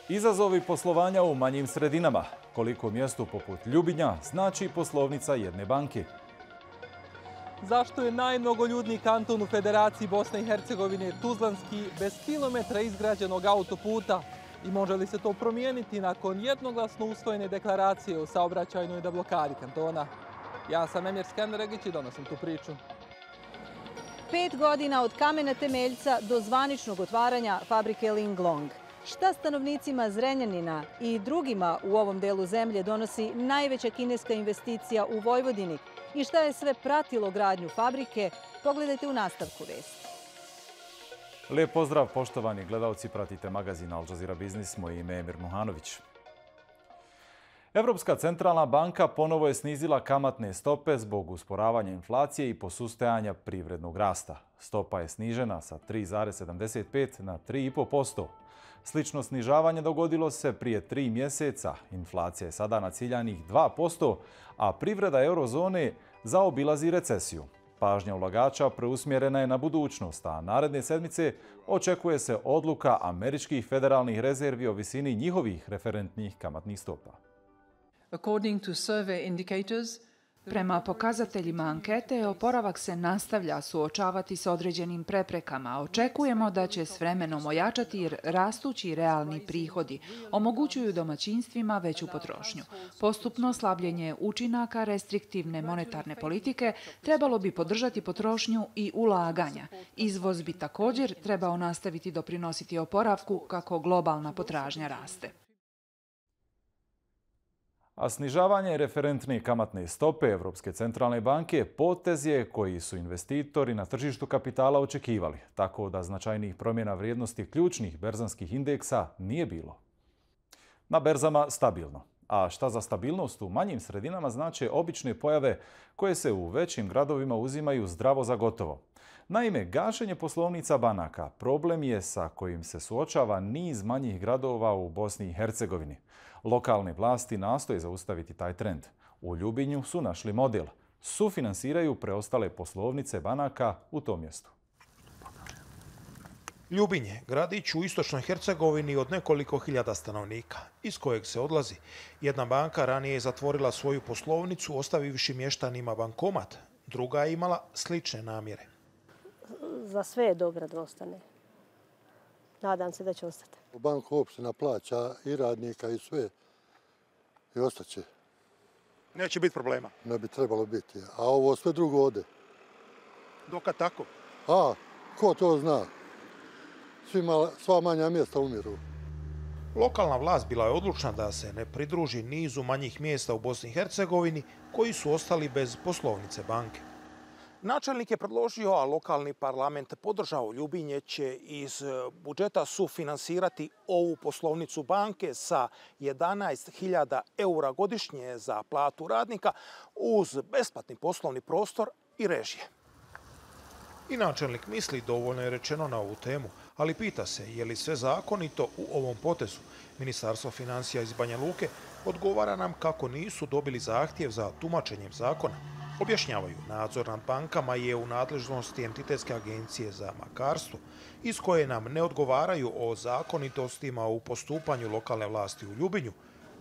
Izazovi poslovanja u manjim sredinama. Koliko mjestu poput Ljubinja znači poslovnica jedne banke? Zašto je najmnogoljudniji kanton u Federaciji Bosne i Hercegovine Tuzlanski bez kilometra izgrađenog autoputa? I može li se to promijeniti nakon jednoglasno usvojene deklaracije o saobraćajnoj deblokadi kantona? Ja sam Emir Skenderegić i donosim tu priču. 5 godina od kamena temeljca do zvaničnog otvaranja fabrike Linglong. Šta stanovnicima Zrenjanina i drugima u ovom delu zemlje donosi najveća kineska investicija u Vojvodini i šta je sve pratilo gradnju fabrike, pogledajte u nastavku vesti. Lijep pozdrav, poštovani gledalci, pratite magazin Al Jazeera Biznis, moje ime je Emir Muhanović. Europska centralna banka ponovo je snizila kamatne stope zbog usporavanja inflacije i posustajanja privrednog rasta. Stopa je snižena sa 3,75 na 3,5%. Slično snižavanje dogodilo se prije 3 mjeseca. Inflacija je sada na ciljanih 2%, a privreda eurozone zaobilazi recesiju. Pažnja ulagača preusmjerena je na budućnost, a naredne sedmice očekuje se odluka američkih federalnih rezervi o visini njihovih referentnih kamatnih stopa. Prema pokazateljima ankete, oporavak se nastavlja suočavati s određenim preprekama. Očekujemo da će s vremenom ojačati jer rastući realni prihodi omogućuju domaćinstvima veću potrošnju. Postupno slabljenje učinaka restriktivne monetarne politike trebalo bi podržati potrošnju i ulaganja. Izvoz bi također trebao nastaviti doprinositi oporavku kako globalna potražnja raste. A snižavanje referentne kamatne stope Europske centralne banke potez je koji su investitori na tržištu kapitala očekivali, tako da značajnih promjena vrijednosti ključnih berzanskih indeksa nije bilo. Na berzama stabilno. A šta za stabilnost u manjim sredinama znače obične pojave koje se u većim gradovima uzimaju zdravo za gotovo. Naime, gašenje poslovnica banaka problem je sa kojim se suočava niz manjih gradova u Bosni i Hercegovini. Lokalne vlasti nastoje zaustaviti taj trend. U Ljubinju su našli model. Sufinansiraju preostale poslovnice banaka u tom mjestu. Ljubinje, gradić u istočnoj Hercegovini od nekoliko hiljada stanovnika, iz kojeg se odlazi. Jedna banka ranije je zatvorila svoju poslovnicu ostavivši mještanima bankomat. Druga je imala slične namjere. Za sve je dobro da ostane. Nadam se da će ostati. Banka opština plaća i radnika i sve. I ostaće. Neće biti problema. Ne bi trebalo biti. A ovo sve drugo ode. Dokad tako? A, ko to zna? Sva manja mjesta umiru. Lokalna vlast bila je odlučna da se ne pridruži nizu manjih mjesta u Bosni i Hercegovini koji su ostali bez poslovnice banke. Načelnik je predložio, a lokalni parlament podržao, Ljubinje će iz budžeta sufinansirati ovu poslovnicu banke sa 11.000 eura godišnje za platu radnika uz besplatni poslovni prostor i režije. I načelnik misli dovoljno je rečeno na ovu temu, ali pita se je li sve zakonito u ovom potezu. Ministarstvo financija iz Banja Luke odgovara nam kako nisu dobili zahtjev za tumačenjem zakona. Objašnjavaju, nadzor nad bankama je u nadležnosti Entitetske agencije za bankarstvo, iz koje nam ne odgovaraju o zakonitostima u postupanju lokalne vlasti u Ljubinju,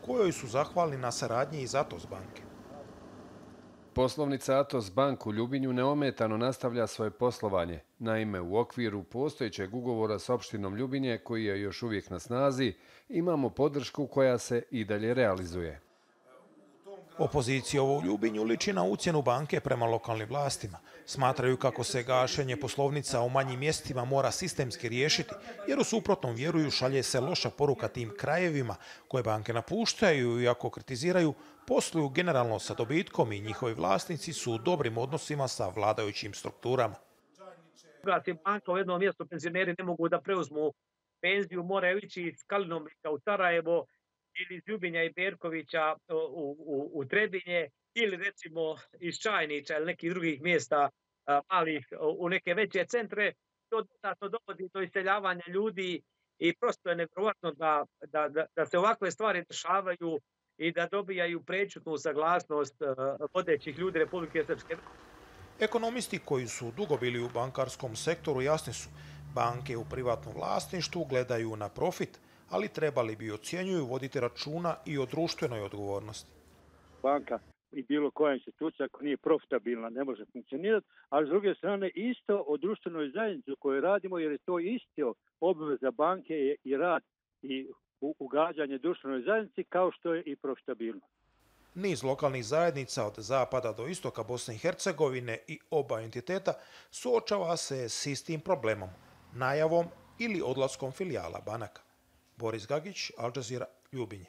kojoj su zahvalni na saradnji iz Atos banke. Poslovnica Atos Bank u Ljubinju neometano nastavlja svoje poslovanje. Naime, u okviru postojećeg ugovora s opštinom Ljubinje, koji je još uvijek na snazi, imamo podršku koja se i dalje realizuje. Opozicija u Ljubinju liči na ucjenu banke prema lokalnim vlastima. Smatraju kako se gašenje poslovnica u manjim mjestima mora sistemski riješiti, jer u suprotnom vjeruju šalje se loša poruka tim krajevima koje banke napuštaju i ako kritiziraju, posluju generalno sa dobitkom i njihovi vlasnici su u dobrim odnosima sa vladajućim strukturama. Gasi banka u jednom mjestu, penzioneri ne mogu da preuzmu penziju, moraju ići iz Kalinovnika u Sarajevo, ili iz Ljubinja i Perkovića u Trebinje, ili recimo iz Čajnića ili nekih drugih mjesta malih u neke veće centre. To dodatno dovodi do iseljavanja ljudi i prosto je nevjerovatno da se ovakve stvari dešavaju i da dobijaju prečutnu saglasnost vodećih ljudi Republike Srpske. Ekonomisti koji su dugo bili u bankarskom sektoru jasni su, Banke u privatnom vlasništvu gledaju na profit, ali trebali bi, ocjenjuju, voditi računa i o društvenoj odgovornosti. Banka i bilo koja institucija ako nije profitabilna ne može funkcionirati, a s druge strane isto o društvenoj zajednici u kojoj radimo, jer je to isto obveza banke i rad i ugađanje društvenoj zajednici kao što je i profitabilnost. Niz lokalnih zajednica od zapada do istoka Bosne i Hercegovine i oba entiteta suočava se s istim problemom, najavom ili odlaskom filijala banaka. Boris Gagić, Al Jazeera, Ljubinje.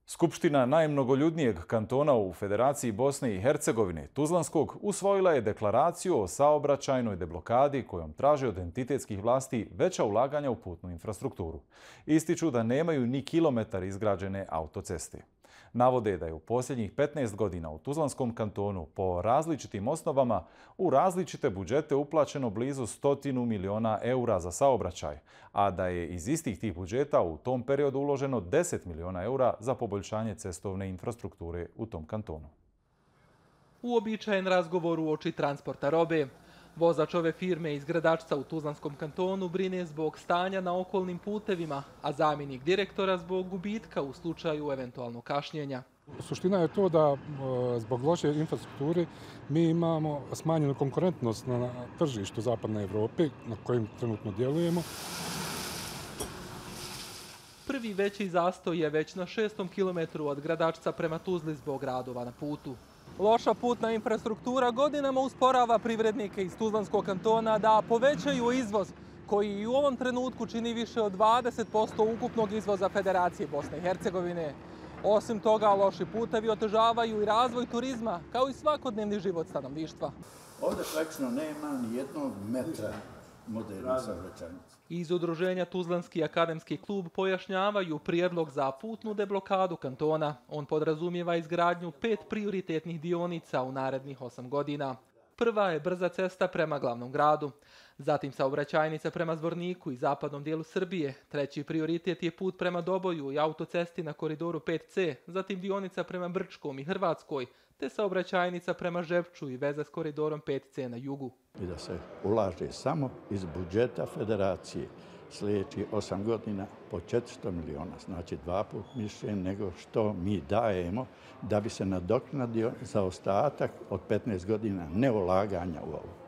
Skupština najmnogoljudnijeg kantona u Federaciji Bosne i Hercegovine, Tuzlanskog, usvojila je deklaraciju o saobraćajnoj deblokadi kojom traže od entitetskih vlasti veća ulaganja u putnu infrastrukturu. Ističu da nemaju ni kilometar izgrađene autoceste. Navode da je u posljednjih 15 godina u Tuzlanskom kantonu po različitim osnovama u različite budžete uplaćeno blizu 100 miliona eura za saobraćaj, a da je iz istih tih budžeta u tom periodu uloženo 10 miliona eura za poboljšanje cestovne infrastrukture u tom kantonu. Uobičajen razgovor uoči transporta robe. Vozač ove firme iz Gradačca u Tuzlanskom kantonu brine zbog stanja na okolnim putevima, a zamjenik direktora zbog gubitka u slučaju eventualnog kašnjenja. Suština je to da zbog loše infrastrukture mi imamo smanjenu konkurentnost na tržištu Zapadne Evrope na kojim trenutno djelujemo. Prvi veći zastoj je već na 6. kilometru od Gradačca prema Tuzli zbog radova na putu. Loša putna infrastruktura godinama usporava privrednike iz Tuzlanskog kantona da povećaju izvoz, koji i u ovom trenutku čini više od 20% ukupnog izvoza Federacije Bosne i Hercegovine. Osim toga, loši putevi otežavaju i razvoj turizma, kao i svakodnevni život stanovništva. Ovdje praktično nema ni jednog metra modernih saobraćajnica. Iz udruženja Tuzlanski akademski klub pojašnjavaju prijedlog za putnu deblokadu kantona. On podrazumijeva izgradnju 5 prioritetnih dionica u narednih 8 godina. Prva je brza cesta prema glavnom gradu, zatim saobraćajnica prema Zvorniku i zapadnom dijelu Srbije. Treći prioritet je put prema Doboju i autocesti na koridoru 5C, zatim dionica prema Brčkom i Hrvatskoj, te saobraćajnica prema Žepču i veza s koridorom 5C na jugu. I da se ulaže samo iz budžeta Federacije sljedećih 8 godina po 400 miliona, znači 2 puta više nego što mi dajemo da bi se nadoknadio zaostatak od 15 godina neulaganja u ovo.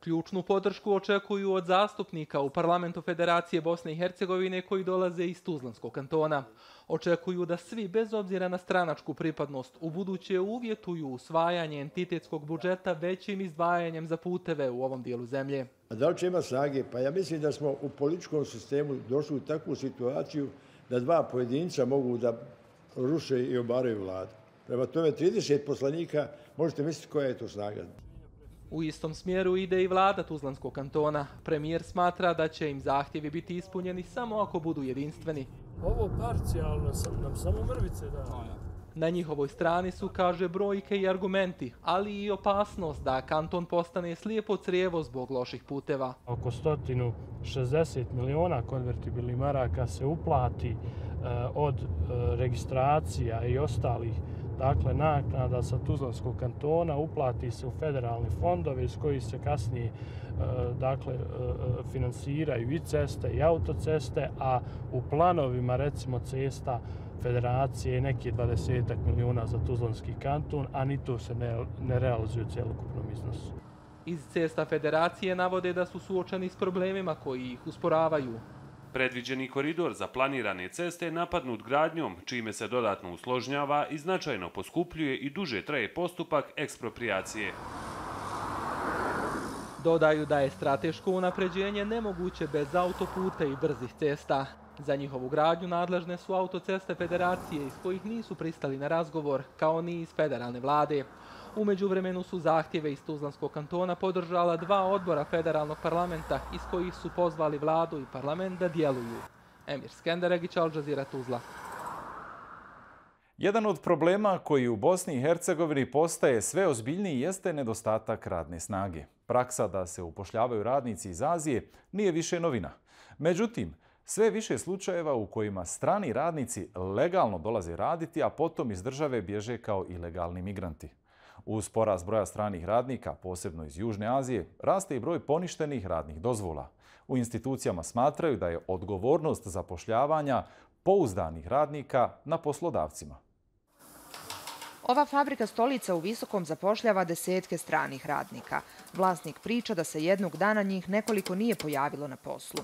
Ključnu podršku očekuju od zastupnika u parlamentu Federacije Bosne i Hercegovine koji dolaze iz Tuzlanskog kantona. Očekuju da svi, bez obzira na stranačku pripadnost, ubuduće uvjetuju usvajanje entitetskog budžeta većim izdvajanjem za puteve u ovom dijelu zemlje. A da li će ima snage? Pa ja mislim da smo u političkom sistemu došli u takvu situaciju da 2 pojedinca mogu da ruše i obaraju vladu. Prema tome 30 poslanika, možete misliti koja je to snaga. U istom smjeru ide i vlada Tuzlanskog kantona. Premijer smatra da će im zahtjevi biti ispunjeni samo ako budu jedinstveni. Ovo parcijalno nam samo mrvice da. Na njihovoj strani su, kaže, brojke i argumenti, ali i opasnost da kanton postane slijepo crijevo zbog loših puteva. Oko 160 miliona konvertibilnih maraka se uplati od registracija i ostalih naknada sa Tuzlanskog kantona, uplati se u federalne fondove iz kojih se kasnije finansiraju i ceste i autoceste, a u planovima recimo cesta Federacije je neki 20 miliona za Tuzlanski kanton, a ni to se ne realizuje u cjelokupnom iznosu. Iz cesta Federacije navode da su suočeni s problemima koji ih usporavaju. Predviđeni koridor za planirane ceste je napadnut gradnjom, čime se dodatno usložnjava i značajno poskupljuje i duže traje postupak eksproprijacije. Dodaju da je strateško unapređenje nemoguće bez autoputa i brzih cesta. Za njihovu gradnju nadležne su autoceste Federacije iz kojih nisu pristali na razgovor, kao ni iz federalne vlade. U međuvremenu su zahtjeve iz Tuzlanskog kantona podržala 2 odbora federalnog parlamenta iz kojih su pozvali vladu i parlament da djeluju. Emir Skenderegić, Al Jazeera, Tuzla. Jedan od problema koji u Bosni i Hercegovini postaje sve ozbiljniji jeste nedostatak radne snage. Praksa da se upošljavaju radnici iz Azije nije više novina. Međutim, sve više slučajeva u kojima strani radnici legalno dolaze raditi, a potom iz države bježe kao ilegalni migranti. Uz porast broja stranih radnika, posebno iz Južne Azije, raste i broj poništenih radnih dozvola. U institucijama smatraju da je odgovornost zapošljavanja pouzdanih radnika na poslodavcima. Ova fabrika stolica u Visokom zapošljava desetke stranih radnika. Vlasnik priča da se jednog dana njih nekoliko nije pojavilo na poslu.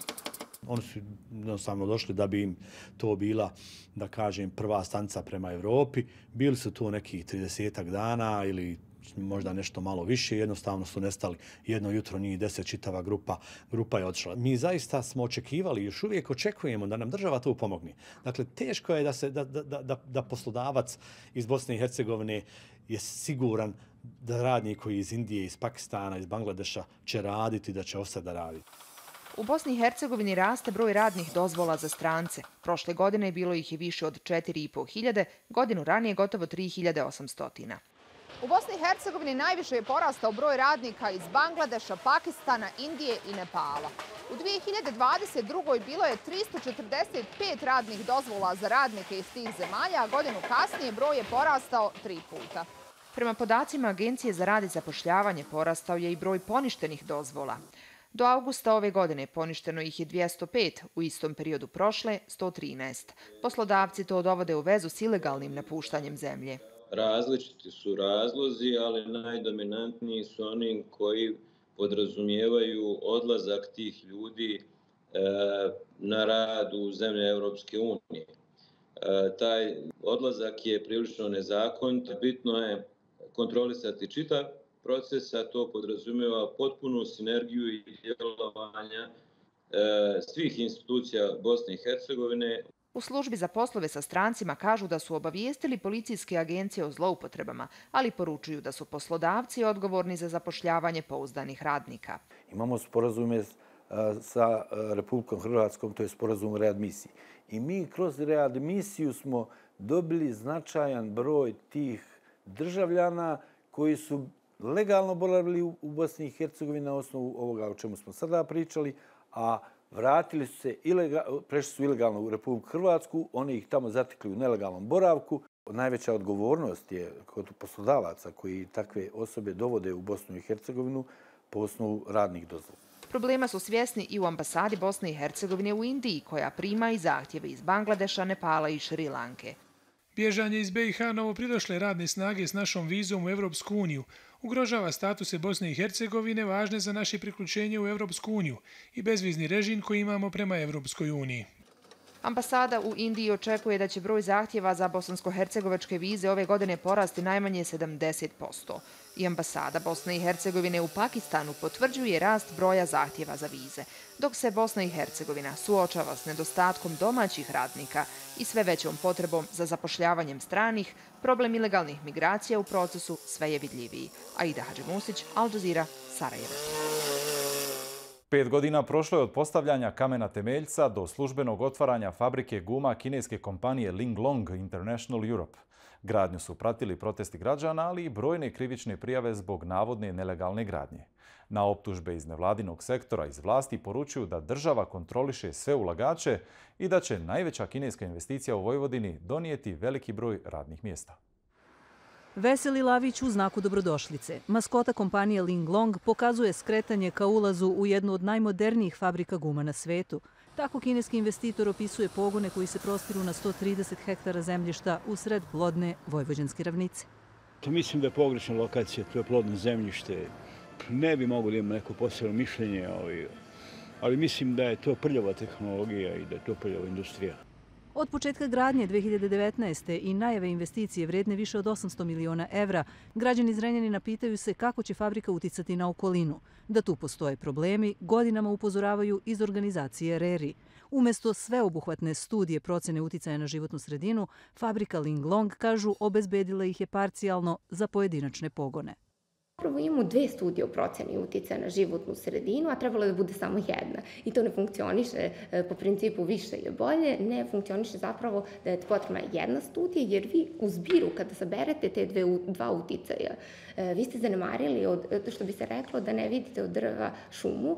Oni su jednostavno došli da bi im to bila, da kažem, prva stanica prema Evropi. Bili su tu nekih 30 dana ili možda nešto malo više, jednostavno su nestali. Jedno jutro njih 10, čitava grupa je otišla. Mi zaista smo očekivali, još uvijek očekujemo da nam država tu pomogne. Dakle, teško je da poslodavac iz Bosne i Hercegovine je siguran da radnik koji iz Indije, iz Pakistana, iz Bangladeša će raditi, da će ostati da radi. U Bosni i Hercegovini raste broj radnih dozvola za strance. Prošle godine bilo ih je više od 4.500, godinu ranije gotovo 3.800. U Bosni i Hercegovini najviše je porastao broj radnika iz Bangladeša, Pakistana, Indije i Nepala. U 2022. bilo je 345 radnih dozvola za radnike iz tih zemalja, a godinu kasnije broj je porastao 3 puta. Prema podacima Agencije za rad i zapošljavanje porastao je i broj poništenih dozvola. Do avgusta ove godine poništeno ih je 205, u istom periodu prošle 113. Poslodavci to dovode u vezu s ilegalnim napuštanjem zemlje. Različiti su razlozi, ali najdominantniji su oni koji podrazumijevaju odlazak tih ljudi na rad u zemlje Europske unije. Taj odlazak je prilično nezakonit. Bitno je kontrolisati čitav proces, a to podrazumijeva potpunu sinergiju i djelovanja svih institucija Bosne i Hercegovine. U službi za poslove sa strancima kažu da su obavijestili policijske agencije o zloupotrebama, ali poručuju da su poslodavci odgovorni za zapošljavanje pouzdanih radnika. Imamo sporazume sa Republikom Hrvatskom, to je sporazum o readmisiji. I mi kroz readmisiju smo dobili značajan broj tih državljana koji su legalno boravili u Bosni i Hercegovini na osnovu ovoga o čemu smo sada pričali, a vratili su se, prešli su ilegalno u Republiku Hrvatsku, oni ih tamo zatekli u nelegalnom boravku. Najveća odgovornost je kod poslodavaca koji takve osobe dovode u Bosnu i Hercegovinu po osnovu radnih dozvola. Problema su svjesni i u ambasadi Bosne i Hercegovine u Indiji, koja prima i zahtjeve iz Bangladeša, Nepala i Šrilanke. Bježanje iz BiH novopridošle radne snage s našom vizom u Evropsku uniju ugrožava statuse Bosne i Hercegovine važne za naše priključenje u Evropsku uniju i bezvizni režim koji imamo prema Evropskoj uniji. Ambasada u Indiji očekuje da će broj zahtjeva za bosansko-hercegovačke vize ove godine porasti najmanje 70%. I ambasada Bosne i Hercegovine u Pakistanu potvrđuje rast broja zahtjeva za vize, dok se Bosna i Hercegovina suočava s nedostatkom domaćih radnika i sve većom potrebom za zapošljavanjem stranih, problem ilegalnih migracija u procesu sve je vidljiviji. Aida Hadžimusić, Al Jazeera, Sarajevo. 5 godina prošlo je od postavljanja kamena temeljca do službenog otvaranja fabrike guma kineske kompanije Linglong International Europe. Gradnju su pratili protesti građana, ali i brojne krivične prijave zbog navodne nelegalne gradnje. Na optužbe iz nevladinog sektora iz vlasti poručuju da država kontroliše sve ulagače i da će najveća kineska investicija u Vojvodini donijeti veliki broj radnih mjesta. Veseli lavić u znaku dobrodošlice. Maskota kompanije Linglong pokazuje skretanje ka ulazu u jednu od najmodernijih fabrika guma na svetu. Tako kineski investitor opisuje pogone koji se prostiru na 130 hektara zemljišta usred plodne vojvođanske ravnice. Mislim da je pogrešna lokacija, to je plodno zemljište. Ne bi mogo da imam neko posebno mišljenje, ali mislim da je to prljava tehnologija i da je to prljava industrija. Od početka gradnje 2019. i najave investicije vredne više od 800 miliona evra, građani Zrenjanina pitaju se kako će fabrika uticati na okolinu. Da tu postoje problemi, godinama upozoravaju iz organizacije RERI. Umjesto sveobuhvatne studije procjene uticaja na životnu sredinu, fabrika Linglong, kažu, obezbedila ih je parcijalno za pojedinačne pogone. Prvo imamo 2 studije o procjeni uticaja na životnu sredinu, a trebalo je da bude samo jedna. I to ne funkcioniše po principu više je bolje, ne funkcioniše zapravo da je potrebna jedna studija, jer vi u zbiru kada saberete te dva uticaja, vi ste zanemarili, što bi se reklo, da ne vidite od drva šumu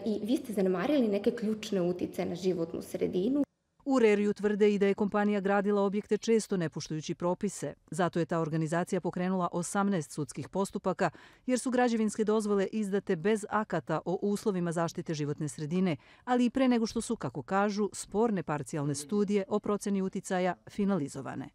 i vi ste zanemarili neke ključne uticaje na životnu sredinu. U RERI-u tvrde i da je kompanija gradila objekte često ne poštujući propise. Zato je ta organizacija pokrenula 18 sudskih postupaka, jer su građevinske dozvole izdate bez akata o uslovima zaštite životne sredine, ali i pre nego što su, kako kažu, sporne parcijalne studije o proceni uticaja finalizovane.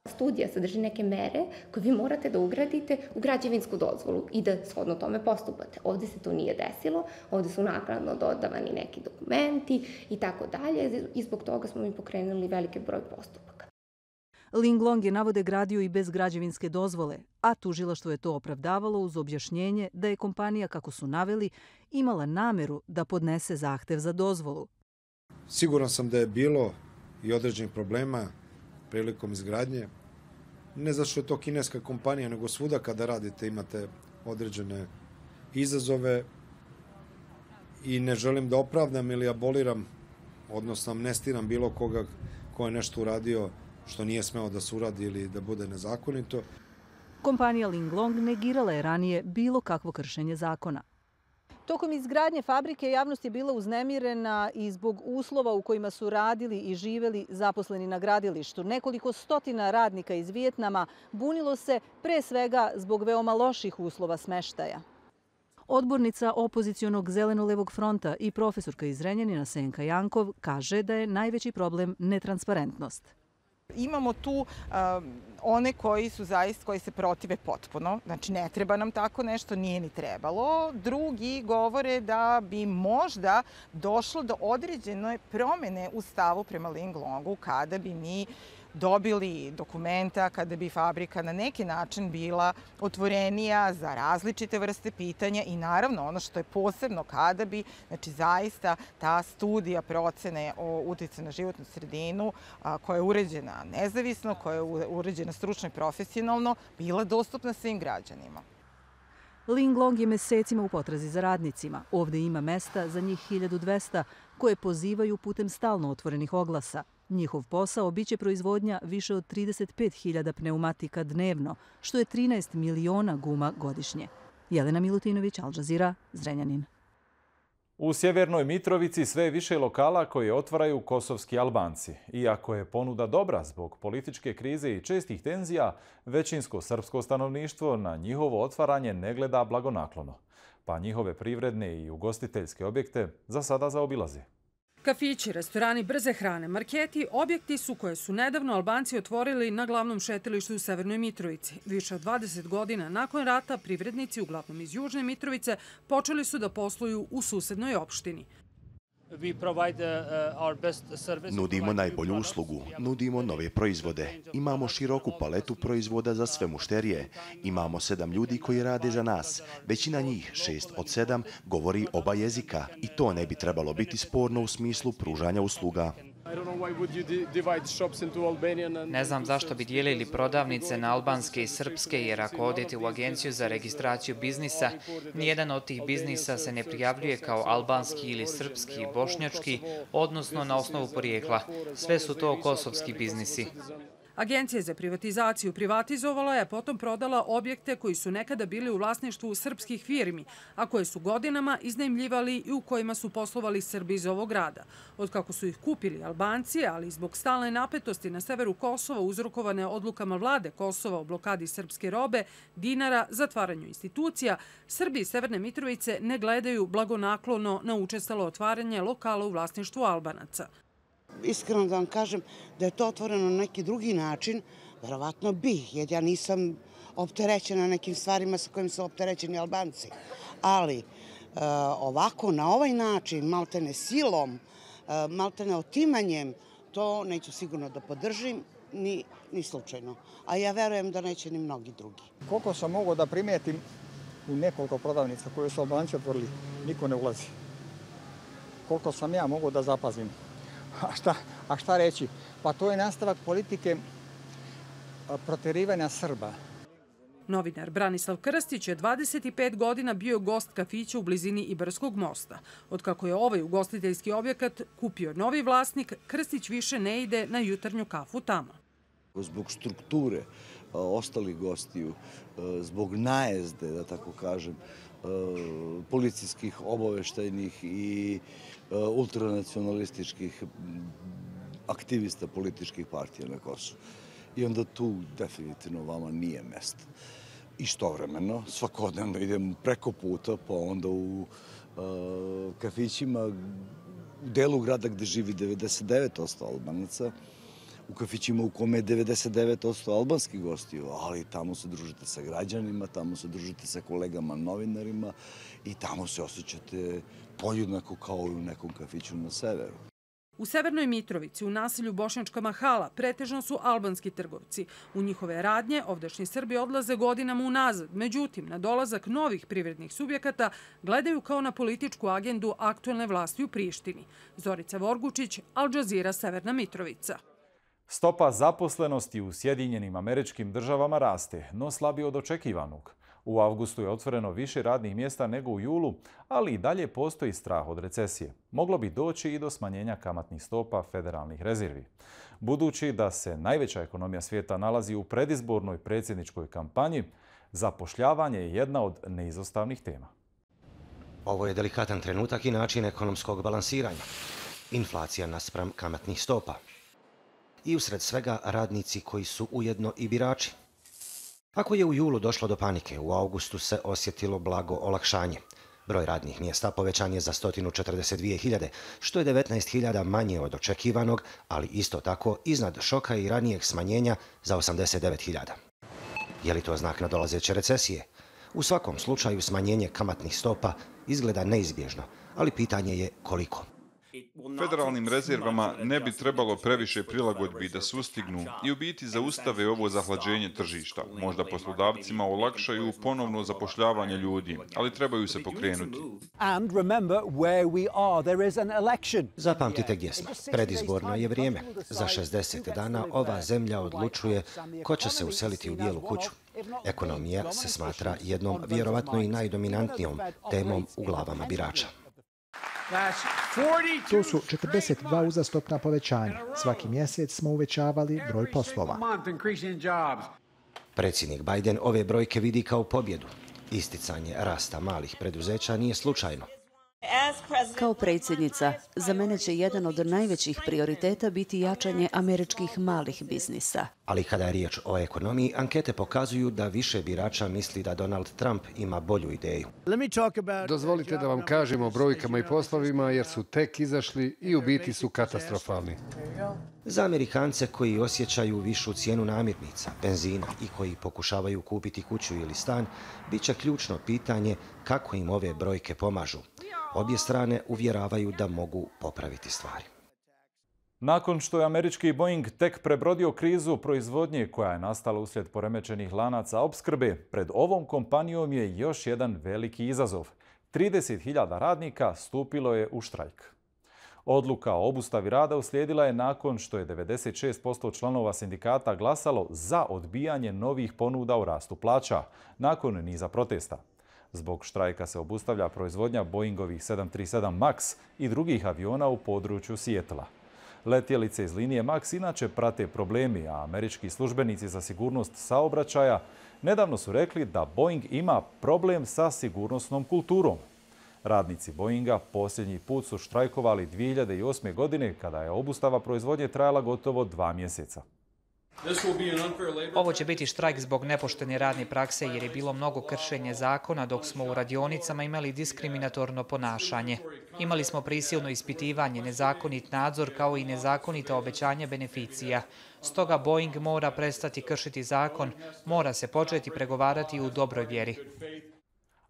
Studija sadrži neke mere koje vi morate da ugradite u građevinsku dozvolu i da shodno tome postupate. Ovdje se to nije desilo, ovdje su naknadno dodavani neki dokumenti i tako dalje i zbog toga smo mi pokrenuli veliki broj postupaka. Linglong je, navode, gradio i bez građevinske dozvole, a tužilaštvo je to opravdavalo uz objašnjenje da je kompanija, kako su naveli, imala nameru da podnese zahtev za dozvolu. Siguran sam da je bilo i određenih problema prilikom izgradnje. Ne zato što je to kineska kompanija, nego svuda kada radite imate određene izazove i ne želim da opravdam ili aboliram, odnosno amnestiram bilo koga ko je nešto uradio što nije smeo da se uradi ili da bude nezakonito. Kompanija Linglong negirala je ranije bilo kakvo kršenje zakona. Tokom izgradnje fabrike javnost je bila uznemirena i zbog uslova u kojima su radili i živeli zaposleni na gradilištu. Nekoliko stotina radnika iz Vijetnama bunilo se pre svega zbog veoma loših uslova smeštaja. Odbornica opozicionog Zeleno-levog fronta i profesorka iz Zrenjanina Senka Jankov kaže da je najveći problem netransparentnost. Imamo tu one koji se protive potpuno, znači ne treba nam tako nešto, nije ni trebalo. Drugi govore da bi možda došlo do određene promjene u stavu prema Linglongu kada bi mi dobili dokumenta, kada bi fabrika na neki način bila otvorenija za različite vrste pitanja i naravno ono što je posebno kada bi zaista ta studija procene o uticaju na životnu sredinu koja je uređena nezavisno, koja je uređena stručno i profesionalno, bila dostupna svim građanima. Linglong je mesecima u potrazi za radnicima. Ovdje ima mesta za njih 1200 koje pozivaju putem stalno otvorenih oglasa. Njihov posao biće proizvodnja više od 35.000 pneumatika dnevno, što je 13 miliona guma godišnje. Jelena Milutinović, Al Jazeera, Zrenjanin. U Sjevernoj Mitrovici sve je više lokala koje otvaraju kosovski Albanci. Iako je ponuda dobra zbog političke krize i čestih tenzija, većinsko srpsko stanovništvo na njihovo otvaranje ne gleda blagonaklono. Pa njihove privredne i ugostiteljske objekte za sada zaobilaze. Kafići, restorani brze hrane, marketi, objekti su koje su nedavno Albanci otvorili na glavnom šetilištu u Severnoj Mitrovici. Više od 20 godina nakon rata privrednici, uglavnom iz Južne Mitrovice, počeli su da posluju u susednoj opštini. Nudimo najbolju uslugu, nudimo nove proizvode. Imamo široku paletu proizvoda za sve mušterije. Imamo 7 ljudi koji rade za nas. Većina njih, 6 od 7, govori oba jezika i to ne bi trebalo biti sporno u smislu pružanja usluga. Ne znam zašto bi dijelili prodavnice na albanske i srpske, jer ako odete u agenciju za registraciju biznisa, nijedan od tih biznisa se ne prijavljuje kao albanski ili srpski, bošnjački, odnosno na osnovu porijekla. Sve su to kosovski biznisi. Agencija za privatizaciju privatizovala je, potom prodala objekte koji su nekada bili u vlasništvu srpskih firmi, a koje su godinama iznajmljivali i u kojima su poslovali Srbi iz ovog grada. Otkako su ih kupili Albanci, ali zbog stalne napetosti na severu Kosova uzrokovane odlukama vlade Kosova o blokadi srpske robe, dinara, zatvaranju institucija, Srbi iz Severne Mitrovice ne gledaju blagonaklono na učestalo otvaranje lokala u vlasništvu Albanaca. Iskreno da vam kažem da je to otvoreno na neki drugi način, verovatno bi, jer ja nisam opterećena nekim stvarima sa kojim su opterećeni Albanci. Ali ovako, na ovaj način, maltene silom, maltene otimanjem, to neću sigurno da podržim, ni slučajno. A ja verujem da neće ni mnogi drugi. Koliko sam mogao da primetim u nekoliko prodavnica koje su Albanci otvorili, niko ne ulazi. Koliko sam ja mogao da zapazim. A šta reći? Pa to je nastavak politike proterivanja Srba. Novinar Branislav Krstić je 25 godina bio gost kafića u blizini Ibarskog mosta. Otkako je ovaj ugostiteljski objekat kupio novi vlasnik, Krstić više ne ide na jutarnju kafu tamo. Zbog strukture ostalih gostiju, zbog najezde, da tako kažem, policijskih, obaveštajnih i ultranacionalističkih aktivista političkih partija na Kosovu. I onda tu definitivno vama nije mesto. Istovremeno, svakodnevno idem preko puta, pa onda u kafićima u delu grada gde živi 99% Albanaca, u kafićima u kome je 99% albanskih gostiju, ali tamo se družite sa građanima, tamo se družite sa kolegama novinarima i tamo se osjećate podjednako kao i u nekom kafiću na severu. U Severnoj Mitrovici, u naselju Bošnjačka Mahala, pretežno su albanski trgovci. U njihove radnje ovdašnji Srbi odlaze godinama unazad. Međutim, na dolazak novih privrednih subjekata gledaju kao na političku agendu aktuelne vlasti u Prištini. Zorica Vorgučić, Al Jazeera, Severna Mitrovica. Stopa zaposlenosti u Sjedinjenim Američkim Državama raste, no slabije od očekivanog. U avgustu je otvoreno više radnih mjesta nego u julu, ali i dalje postoji strah od recesije. Moglo bi doći i do smanjenja kamatnih stopa federalnih rezervi. Budući da se najveća ekonomija svijeta nalazi u predizbornoj predsjedničkoj kampanji, zapošljavanje je jedna od neizostavnih tema. Ovo je delikatan trenutak i način ekonomskog balansiranja. Inflacija naspram kamatnih stopa. I usred svega radnici koji su ujedno i birači. Ako je u julu došlo do panike, u augustu se osjetilo blago olakšanje. Broj radnih mjesta povećan je za 142.000, što je 19.000 manje od očekivanog, ali isto tako iznad šoka i ranijeg smanjenja za 89.000. Je li to znak nadolazeće recesije? U svakom slučaju smanjenje kamatnih stopa izgleda neizbježno, ali pitanje je koliko. Federalnim rezervama ne bi trebalo previše prilagodbi da sustignu i u biti zaustave ovo zahlađenje tržišta. Možda poslodavcima olakšaju ponovno zapošljavanje ljudi, ali trebaju se pokrenuti. Zapamtite gdje smo. Predizborno je vrijeme. Za 60 dana ova zemlja odlučuje ko će se useliti u Bijelu kuću. Ekonomija se smatra jednom vjerovatno i najdominantnijom temom u glavama birača. To su 42 uzastopna povećanja. Svaki mjesec smo uvećavali broj poslova. Predsjednik Biden ove brojke vidi kao pobjedu. Isticanje rasta malih preduzeća nije slučajno. Kao predsjednica, za mene će jedan od najvećih prioriteta biti jačanje američkih malih biznisa. Ali kada je riječ o ekonomiji, ankete pokazuju da više birača misli da Donald Trump ima bolju ideju. Dozvolite da vam kažem o brojkama i poslovima jer su tek izašli i u biti su katastrofalni. Za Amerikance koji osjećaju višu cijenu namirnica, benzina i koji pokušavaju kupiti kuću ili stan, bit će ključno pitanje kako im ove brojke pomažu. Obje strane uvjeravaju da mogu popraviti stvari. Nakon što je američki Boeing tek prebrodio krizu proizvodnje koja je nastala uslijed poremećenih lanaca opskrbe, pred ovom kompanijom je još jedan veliki izazov. 30.000 radnika stupilo je u štrajk. Odluka o obustavi rada uslijedila je nakon što je 96% članova sindikata glasalo za odbijanje novih ponuda o rastu plaća nakon niza protesta. Zbog štrajka se obustavlja proizvodnja Boeingovih 737 MAX i drugih aviona u području Sijetla. Letjelice iz linije MAX inače prate problemi, a američki službenici za sigurnost saobraćaja nedavno su rekli da Boeing ima problem sa sigurnosnom kulturom. Radnici Boeinga posljednji put su štrajkovali 2008. godine kada je obustava proizvodnje trajala gotovo 2 mjeseca. Ovo će biti štrajk zbog nepoštene radne prakse jer je bilo mnogo kršenja zakona dok smo u radionicama imali diskriminatorno ponašanje. Imali smo prisilno ispitivanje, nezakonit nadzor kao i nezakonita obećanja beneficija. Stoga Boeing mora prestati kršiti zakon, mora se početi pregovarati u dobroj vjeri.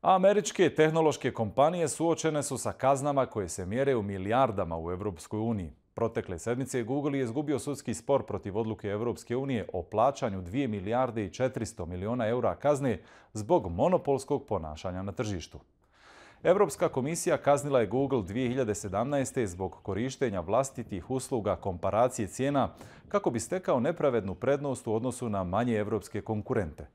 Američke tehnološke kompanije suočene su sa kaznama koje se mjere u milijardama u Europskoj uniji. Protekle sedmice Google je izgubio sudski spor protiv odluke Europske unije o plaćanju 2 milijarde i 400 milijuna eura kazne zbog monopolskog ponašanja na tržištu. Europska komisija kaznila je Google 2017. zbog korištenja vlastitih usluga komparacije cijena kako bi stekao nepravednu prednost u odnosu na manje europske konkurente.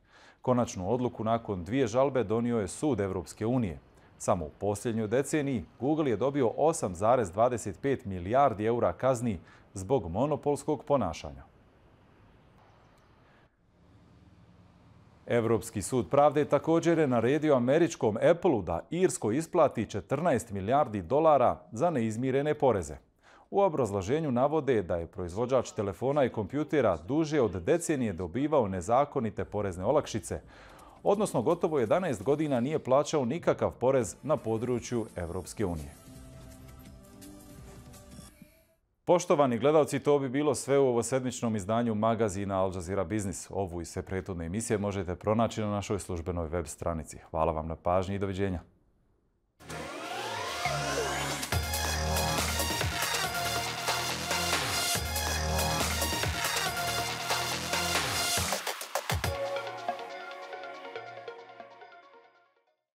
Konačnu odluku nakon 2 žalbe donio je sud Europske unije. Samo u posljednjoj deceniji Google je dobio 8,25 milijardi eura kazni zbog monopolskog ponašanja. Europski sud pravde također je naredio američkom Appleu da Irskoj isplati 14 milijardi dolara za neizmirene poreze. U obrazloženju navode da je proizvođač telefona i kompjutera duže od decenije dobivao nezakonite porezne olakšice, odnosno gotovo 11 godina nije plaćao nikakav porez na području Evropske unije. Poštovani gledalci, to bi bilo sve u ovosedmičnom izdanju magazina Al Jazeera Biznis. Ovu i sve prethodne emisije možete pronaći na našoj službenoj web stranici. Hvala vam na pažnji i doviđenja.